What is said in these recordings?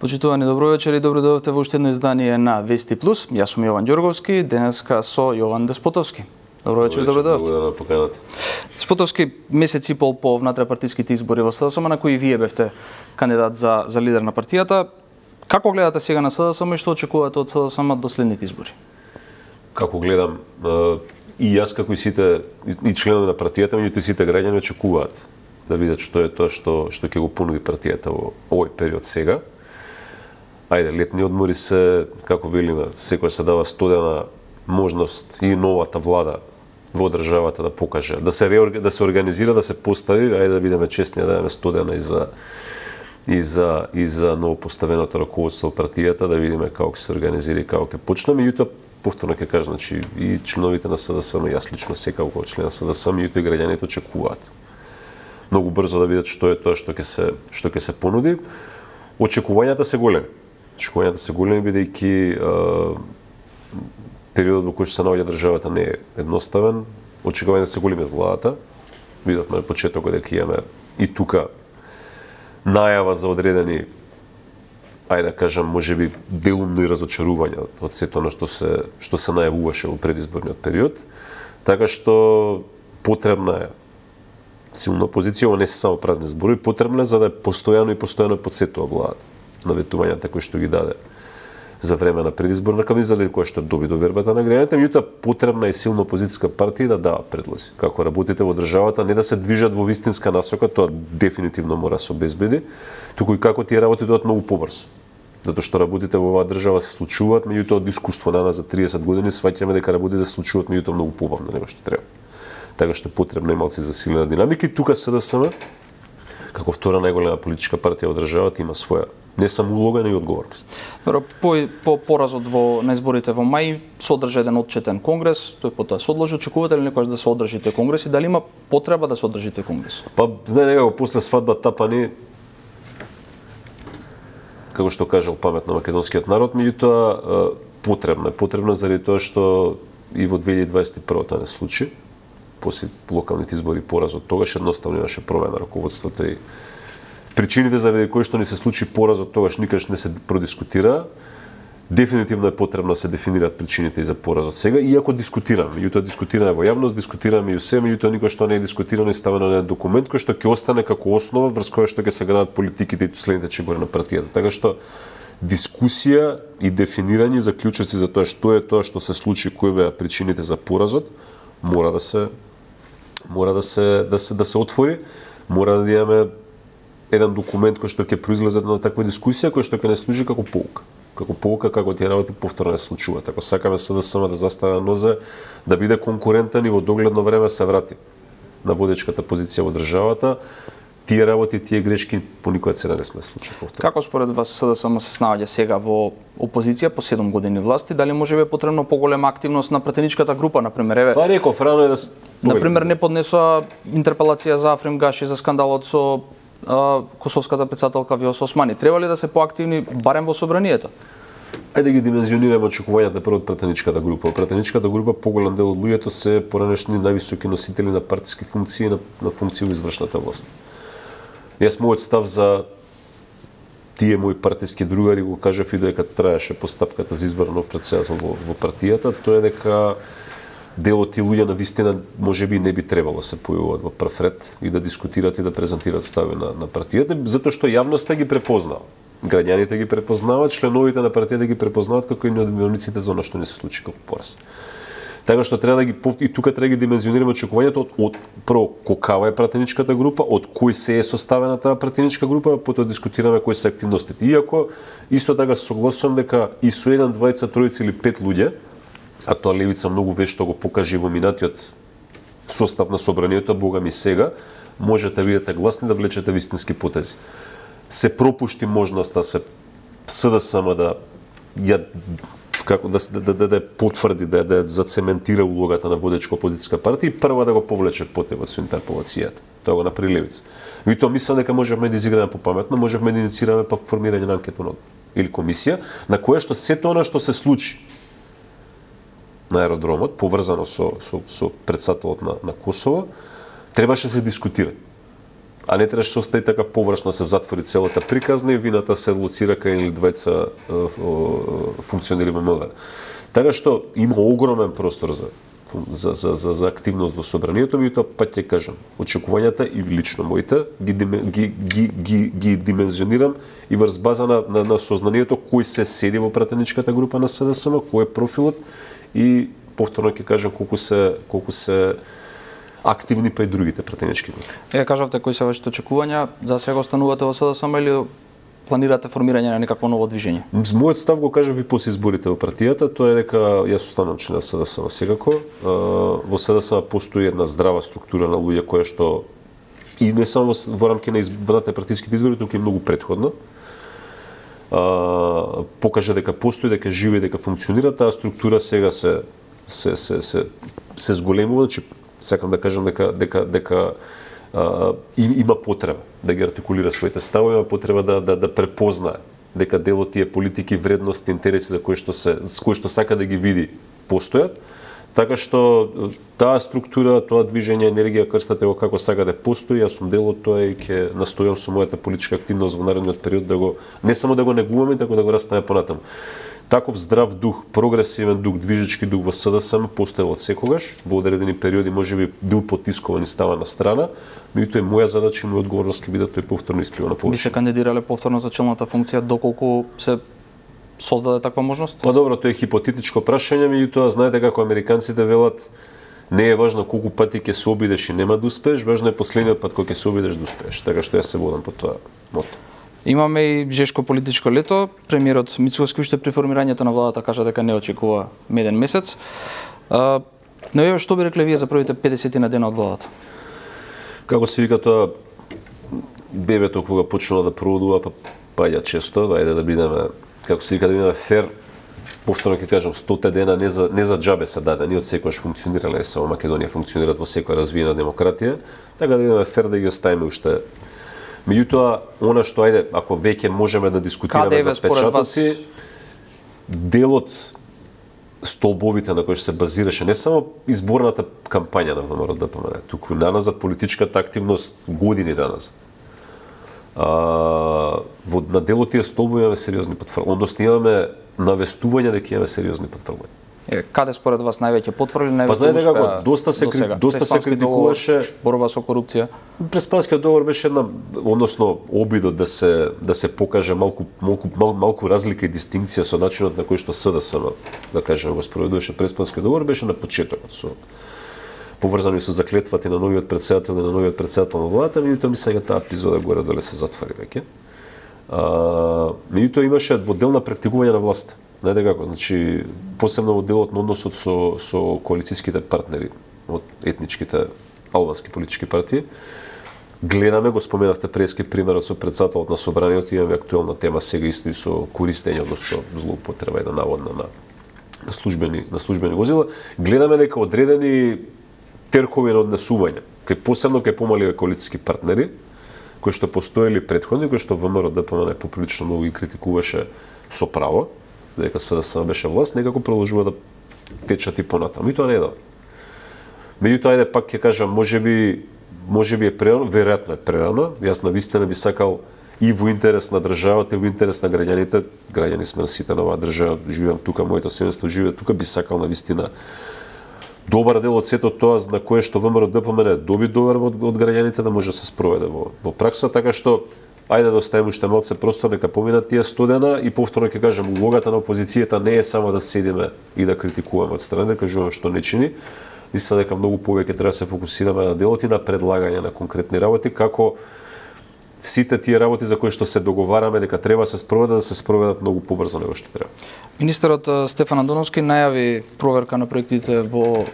Почитувани, добро вечер и добро дојдовте во уште едно издание на Вести Плюс. Јас сум Јован Ѓорговски, денеска со Јован Деспотовски. Добро вечер и добро дојдовте. Благодарам на поканата. Деспотовски, месец и пол по внатрешпартиските избори во СДСМ, на кои вие бевте кандидат за лидер на партијата. Како гледате сега на СДСМ и што очекувате од СДСМ до следните избори? Како гледам, и јас како и сите и членови на партијата, меѓутоа сите граѓани очекуваат да видат што е тоа што ќе го понуди партијата во овој период сега. Ајде, летни одмори се, како велиме, секој се дава студена можност и новата влада во државата да покаже, да се организира, да се постави, ајде да бидеме честни, да дадеме студена и за новопоставеното раководство во партијата, да видиме како ќе се организира и како ќе почнеме. Меѓутоа, повторно ќе кажам, значи и членовите на СДСМ, јас лично секако како член на СДСМ, меѓутоа и граѓаните очекуваат многу брзо да видат што е тоа што ќе се понуди. Очекувањата се големи. Бидејќи периодот во кој што се наоѓа државата не е едноставен. Очекувањата се големи од владата. Видовме на почетокот дека имаме и тука најава за одредени, ајде да кажам, можеби делумно и разочарување од сето оно што се најавуваше во предизборниот период. Така што потребна е силна позиција, ова не се само празни зборови, потребна е за да е постојано подсетува владата на ветувањата кои што ги даде за време на предизборна кампања, заради која што доби довербата на граѓаните, меѓутоа потребна е силно опозицијска партија да дава предлози. Како работите во државата, не да се движат во вистинска насока, тоа дефинитивно мора да се обезбеди, туку и како тие работи дојдат многу побрзо. Затоа што работите во оваа држава се случуваат, меѓутоа од искуство на нас за 30 години сваќаме дека работите се случуваат меѓутоа многу побавно него што треба. Така што потребна е малци засилена динамика и тука СДСМ како втора најголема политичка партија во државата има своја не само улога, но и одговорност. Добро, по поразот на изборите во мај се одржа еден отчетен конгрес, тој потоа се одложи. Очекувате ли некогаш да се одржи тој конгрес и дали има потреба да се одржи тој конгрес? Па, знае некако после свадба тапани, како што кажал паметно македонскиот народ, меѓутоа потребно заради тоа што и во 2021 тоа не случи. После локалните избори поразот тогаш едноставно имаше промена раководството и причините заради кои што не се случи поразот тогаш никаш не се продискутира. Дефинитивно е потребно да се дефинираат причините и за поразот сега, иако дискутираме. Меѓутоа дискутираме во јавност, дискутираме и усе, меѓутоа никој што не е дискутирано и ставено на документ кој што ќе остане како основа врз која што ќе се градат политиките и следните чегори на партијата. Така што дискусија и дефинирање заклучоци за тоа што се случи, кои беа причините за поразот, мора да се отвори, мора да имаме еден документ кој што ќе произлезе на таква дискусија, кој што ќе не служи како поука. Како тие работи повторно не случуваат. Ако сакаме СДСМ да застане на нозе, да биде конкурентен и во догледно време се врати на водечката позиција во државата, тие работи, тие грешки по никоја цена не сме случаи повторно. Како според вас СДСМ се снаоѓа сега во опозиција по 7 години власти? Дали може би е потребно поголема активност на пратеничката група, например? Па реков, рано е да например, не поднесоа интерпелација за Африм Гаши за скандалот со косовската претседателка Вјоса Османи. Треба ли да се поактивни барем во собранието? Ајде ги димензионираме очекувањата прво од пратеничката група. Во пратеничката група поголем дел од луѓето се поранешни највисоки носители на партиски функции и на функции во извршната власт. Јас мојот став за тие мои партиски другари го кажав и додека траеше постапката за избор на нов претседател во партијата, тоа е дека дел од тие луѓе на вистина можеби не би требало да се појавуваат во прв ред и да дискутираат и да презентираат стави на партијата, затоа што јавноста ги препознава. Граѓаните ги препознаваат, членовите на партијата ги препознаваат како и виновниците за она што не се случи како пораз. Така што треба и тука треба да ги димензионираме очекувањето од прво какава е пратеничката група, од кој се е составена таа пратеничка група, потоа дискутираме кои се активностите. Иако исто така се согласувам дека и со 1, 2, 3 или 5 луѓе, а тоа левица многу вешто го покажи во минатиот состав на собранието, бога ми сега, можете да бидете гласни да влечете вистински потези. Се пропушти можноста СДСМ да потврди, да зацементира улогата на водечка опозицијска партија и прва да го повлече потегот со интерпелацијата. Тоа го направи левица. И тоа мислам дека можевме да изиграме попаметно, можевме да инициираме па формирање на анкетна или комисија, на која што сето она што се случи на аеродромот, поврзано со претседателот на Косово, требаше да се дискутира. А не требаше да остави така површно се затвори целата приказна и вината се лоцира кај или двајца функционери во МВР. Така што има огромен простор за активност во собранието, меѓутоа пак ќе кажам, очекувањата и лично моите ги димензионирам и врз база на сознанието кој се седи во пратеничката група на СДСМ, кој е профилот и повторно ќе кажам колку се активни па и другите пратенички групи. Кажавте кои се вашите очекувања, за сега останувате во СДСМ или планирате формирање на некакво ново движење? Мојот став го кажав и после изборите во партијата, тоа е дека јас останам член на СДСМ секако. Во СДСМ постои една здрава структура на луѓе која што и не само во рамки на избраните партиските избори, туку и многу претходно покажа дека постои, дека живее, дека функционира таа структура, сега се зголемува, значи сакам да кажам дека има потреба да ги артикулира своите ставови, има потреба да препознае дека дел од тие политики, вредности, интереси за кои што сака да ги види постојат. Така што таа структура, тоа движење, енергија, крстате го како сака да постои, јас сум дел од тоа и ќе настојам со мојата политичка активност во наредниот период да го не само да го негуваме, туку да го растаме понатаму. Таков здрав дух, прогресивен дух, движечки дух во СДСМ постоел од секогаш, во одредени периоди можеби бил потискуван и ставан на страна, меѓутоа моја задача и моја одговорност ќе биде тој повторно исплива на површина. Би се кандидирале повторно за челната функција доколку се создаде таква можност? Па добро, тоа е хипотетичко прашање, меѓутоа знаете како американците велат, не е важно колку пати ќе се обидеш и нема да успееш, важно е последниот пат кога ќе се обидеш да успееш. Така што јас се водам по тоа мото. Имаме и жешко политичко лето. Премиерот Мицковски уште при формирањето на владата кажа дека не очекува меден месец. Но што би рекле вие за првите 50 на дена од владата? Како се вика тоа, бебето кога почнува да проводува, па паѓа често, ајде да бидеме, како се вика, да бидеме фер. Повторно ќе кажам, 100 дена не за џабе се дадени, од секојаш функционирале, само Македонија функционираат во секоја развиена демократија, така да бидеме фер да ги оставиме уште. Меѓутоа, она што ајде, ако веќе можеме да дискутираме за печатоци, дел од столбовите на кои се базираше не само изборната кампања на ВМРО-ДПМН, туку наназад политичката активност години наназад. На дел од тие столбови имаме сериозни потврдувања, односно имаме навестување дека имаме сериозни потврдувања. Каде според вас највеќе потврди, највеќе па знаете како, доста се критикуваше борба со корупција. Преспанскиот договор беше една, односно обидот да се покаже малку разлика и дистинкција со начинот на кој што СДСМ, да кажеме, го спроведуваше Преспанскиот договор, беше на почетокот со поврзани со заклетвата на новиот претседател и на новиот претседател на владата, меѓутоа мисля дека таа епизода горе-доле се затвори веќе. Меѓутоа имаше дводелна практикување на власт. Знаете како, значи посебно во делот на односот со коалицијските партнери од етничките албански политички партии. Гледаме, го споменавте прески примерот со претседателот на собранието, имаме актуелна тема сега исто и со користење, односно злоупотреба и наводна на службени возила. Гледаме дека одредени теркови на однесување, посебно кај помали коалицијски партнери, кои што постоели претходни, кои што ВМРО-ДПМН поприлично многу ги критикуваше со право, дека СДСМ беше власт, некако продолжува да течат и понатаму. И тоа не е добро. Меѓутоа, ајде пак ќе кажам, можеби е прерано, веројатно е прерано. Јас навистина би сакал и во интерес на државата, и во интерес на граѓаните, граѓани сме сите на оваа држава, живеам тука, моето семејство живее тука, би сакал навистина добар дел од сето тоа на кое што ВМРО-ДПМН доби доверба од граѓаните да може да се спроведе во пракса, така што ајде да оставиме уште малце простор, нека поминат тие 100 дена и повторно ќе кажам, улогата на опозицијата не е само да седиме и да критикуваме од страна, да кажуваме што не чини. Мислам дека многу повеќе треба да се фокусираме на делот и на предлагање на конкретни работи, како сите тие работи за кои што се договараме дека треба да се спроведат многу побрзо него што треба. Министерот Стефан Андоновски најави проверка на проектите во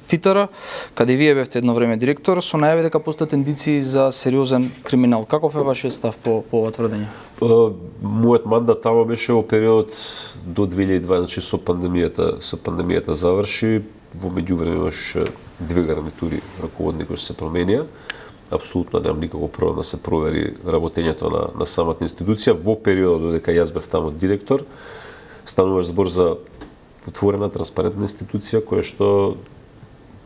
ФИТР, каде вие бевте едно време директор, со најави дека постојат индиции за сериозен криминал. Каков е вашиот став по ова тврдење? Мојот мандат тамо беше во период до 2020, значи со пандемијата заврши, во меѓувреме имаше 2 гарнитури раководни кои се променија. Апсолутно немам никаков проблем да се провери работењето на самата институција. Во периодот додека јас бев тамо директор, стануваш збор за отворена, транспарентна институција која што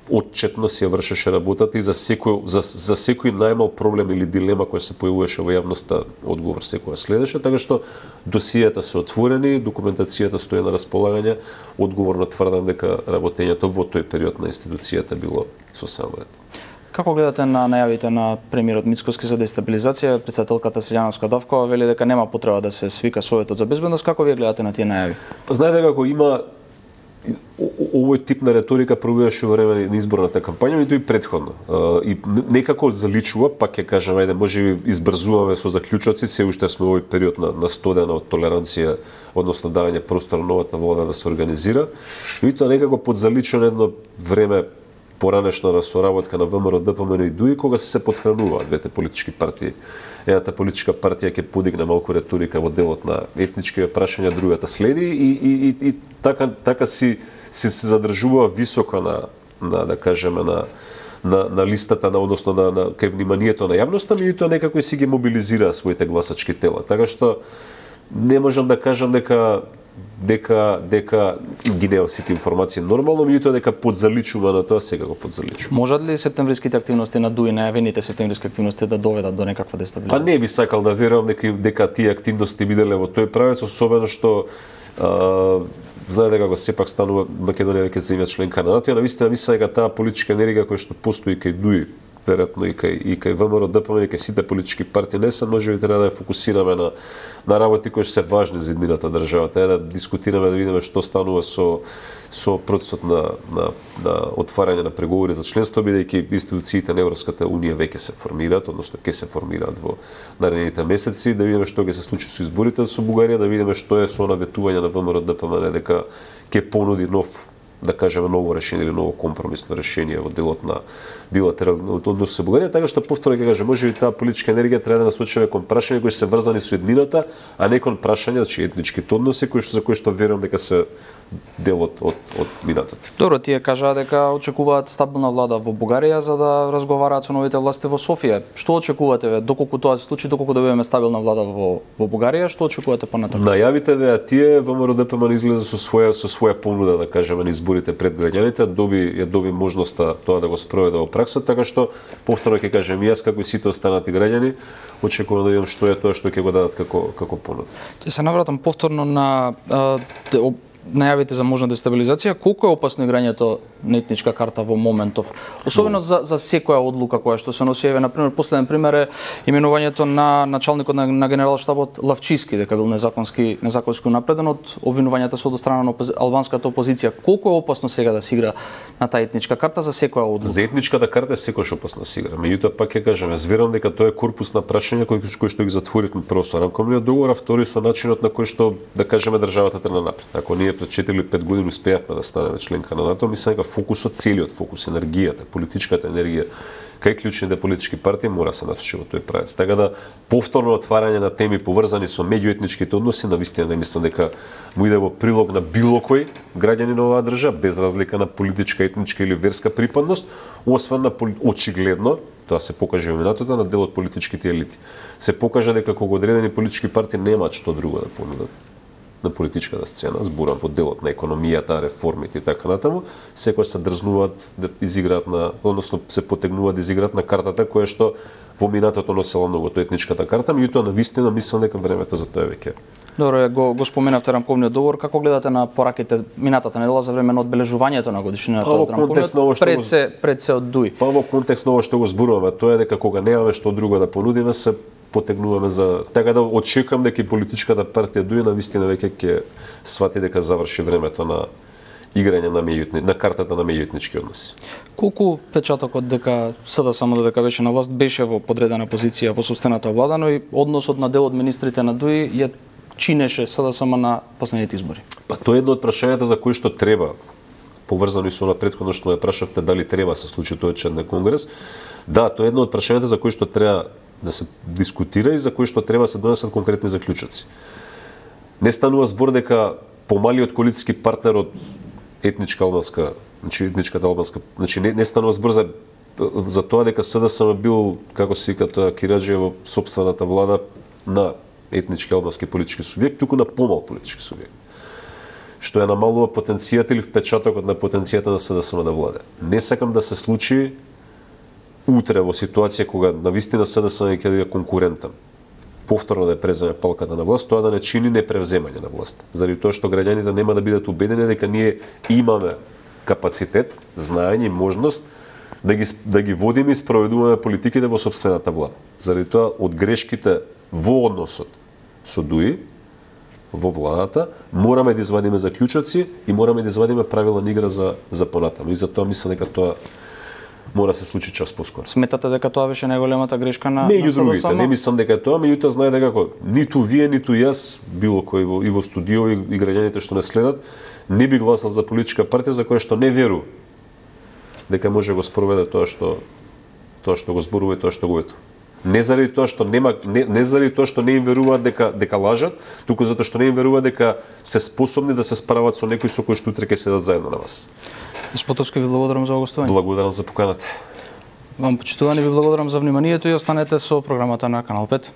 отчетно си ја вршеше работата и за секој најмал проблем или дилема која се појавуваше во јавноста, одговор секоја следеше, така што досијата се отворени, документацијата стои на располагање, одговорно тврдам дека работењето во тој период на институцијата било сосема во ред. Како гледате на најавите на премиерот Мицкоски за дестабилизација? Председателката Силјановска Давкова вели дека нема потреба да се свика Советот за безбедност. Како вие гледате на тие најави? Знаете како има овој тип на реторика проуваше во време на изборната кампања, и тој предходно. И некако заличува, пак ќе кажам, ајде, можеби избрзуваме со заклучоци, се уште сме во овој период на стодена од толеранција, односно давање простор новата влада да се организира, и тоа некако подзаличува едно време поранешно на соработка на ВМРО, ДПМН и ДУИ, кога се подхрануваат двете политички партии. Едната политичка партија ќе подигне малку реторика во делот на етнички прашања, другата следи и така се задржува високо на да кажеме на листата односно на кај вниманието на јавноста, меѓутоа некако си ги мобилизира своите гласачки тела. Така што не можам да кажам дека ги нема сите информации нормално, меѓутоа дека подзаличува на тоа, сега го подзаличува. Можат ли септемвриските активности на ДУИ, најавените септемвриски активности да доведат до некаква дестабилизација? Па не би сакал да верувам дека тие активности биделе во тој правец, особено што знаете како сепак станува Македонија веќе земја членка на НАТО, и навистина мислам дека таа политичка енергија која што постои кај ДУИ, веројатно и кај ВМРО, ДПМН, и кај сите политички партии, не се можеби треба да ја фокусираме на работи кои се важни за иднината држава, да дискутираме, да видиме што станува со процесот на отварање на преговори за членство, бидејќи институциите на Европската унија веќе се формираат, односно ќе се формираат во наредните месеци, да видиме што ќе се случи со изборите со Бугарија, да видиме што е со наветување на ВМРО, ДПМН дека ќе понуди нов, да кажеме, ново решение или ново компромисно решение во делот на билатерални односи со Бугарија, така што повторно ќе кажам, можеби таа политичка енергија треба да насочиме кон прашања кои се врзани со еднината, а не кон прашања, значи етничките односи за кои што верувам дека се дел од минатото. Добро, тие кажаа дека очекуваат стабилна влада во Бугарија за да разговараат со новите власти во Софија. Што очекувате ве доколку тоа се случи, доколку добиеме стабилна влада во Бугарија, што очекувате понатаму? Најавите ве тие ВМРО ДПМН излезе со своја понуда, да кажеме, на изборите пред граѓаните, доби можноста тоа да го спроведе во пракса, така што повторно ќе кажем јас како и сите останати граѓани очекувам да видам што е тоа што ќе го дадат како понуда. Ќе се навратам повторно на најавите за можна дестабилизација. Колку е опасно играњето на етничка карта во моментов, особено за секоја одлука која што се носи? Еве, например, последен пример е именувањето на началникот на генералштабот Лавчиски, дека бил незаконски напреден од обвинувањата со страна на албанската опозиција. Колку е опасно сега да се игра на таа етничка карта за секоја одлука? За етничката карта е секојаш опасно да се игра. Меѓутоа пак ќе кажам, јас верувам дека тоа е корпус на прашања кои што ги затворивме прво со рамковниот договор, а втори со начинот на кој што, да кажеме, државата тргна напред. Ако ние пред 4 или 5 години успеавме да станеме членка на НАТО, мислам дека целиот фокус, енергијата, политичката енергија кај клучните политички партии мора се насочи во тој правец. Така да повторно отварање на теми поврзани со меѓуетничките односи, навистина не мислам дека му иде во прилог на било кој граѓанин на оваа држава, без разлика на политичка, етничка или верска припадност, освен на очигледно, тоа се покаже во минатото, на дел од политичките елити. Се покажа дека кога одредени политички партии немаат што друго да понудат на политичката сцена, зборам во делот на економијата, реформите и така натаму, секој се дрзнуваат да изиграат односно се потегнуваат да изиграат на картата која што во минатото носела многу етничката карта, меѓутоа навистина мислам дека времето за тоа веќе. Добро, го споменавте рамковниот договор, како гледате на пораките минатата недела за време на одбележувањето на годишнината од рамковниот пред се од ДУИ? Па во контекст на ова што го зборуваме, тоа е дека кога немаме што друго да понудиме, се потегнуваме за така да очекувам дека и политичката партија ДУИ навистина веќе ќе свати дека заврши времето на играње на картата на меѓуетнички односи. Колку печатокот дека СДСМ додека беше на власт беше во подредена позиција во сопствената влада, но и односот на дел од министрите на ДУИ ја чинеше СДСМ на последните избори? Па тоа е едно од прашањата за кои што треба, поврзано со на претходно што ме прашавте дали треба се случи тој член на конгрес. Да, тоа е едно од прашањата за кои што треба да се дискутира и за кои што треба се донесат конкретни заклучоци. Не станува збор дека помалиот коалициски партнер од етничката албанска, не станува збор за тоа дека СДСМ бил, како се вика тоа, кираџија во сопствената влада на етнички албански политички субјект, туку на помал политички субјект. што ја намалува потенцијата или впечатокот на потенцијата на СДСМ да владе. Не сакам да се случи утре во ситуација кога навистина СДСМ ќе биде конкурентен, повторно да ја преземе палката на власт, тоа да не чини непревземање на власт. Заради тоа што граѓаните нема да бидат убедени дека ние имаме капацитет, знаење и можност да ги водиме и спроведуваме политиките во сопствената влада. Заради тоа од грешките во односот со ДУИ во владата мораме да извадиме заклучоци и мораме да извадиме правила на игра за понатаму. И за тоа мислам дека тоа мора да се случи час поскоро. Сметате дека тоа беше најголемата грешка на Меѓу другите, СДСМ? не мислам дека е тоа, меѓутоа знаете како, ниту вие, ниту јас, било кој и во студио и граѓаните што не следат, не би гласал за политичка партија за која што не верува дека може го спроведе тоа што го зборува и тоа што го ветува. Не заради тоа што не заради тоа што не им веруваат дека лажат, туку затоа што не им веруваат дека се способни да се справат со некој со кој што утре ќе седат заедно на вас. Спотовски, ви благодарам за гостување. Благодарам за поканата. Вам почитувани, ви благодарам за вниманието и останете со програмата на Канал 5.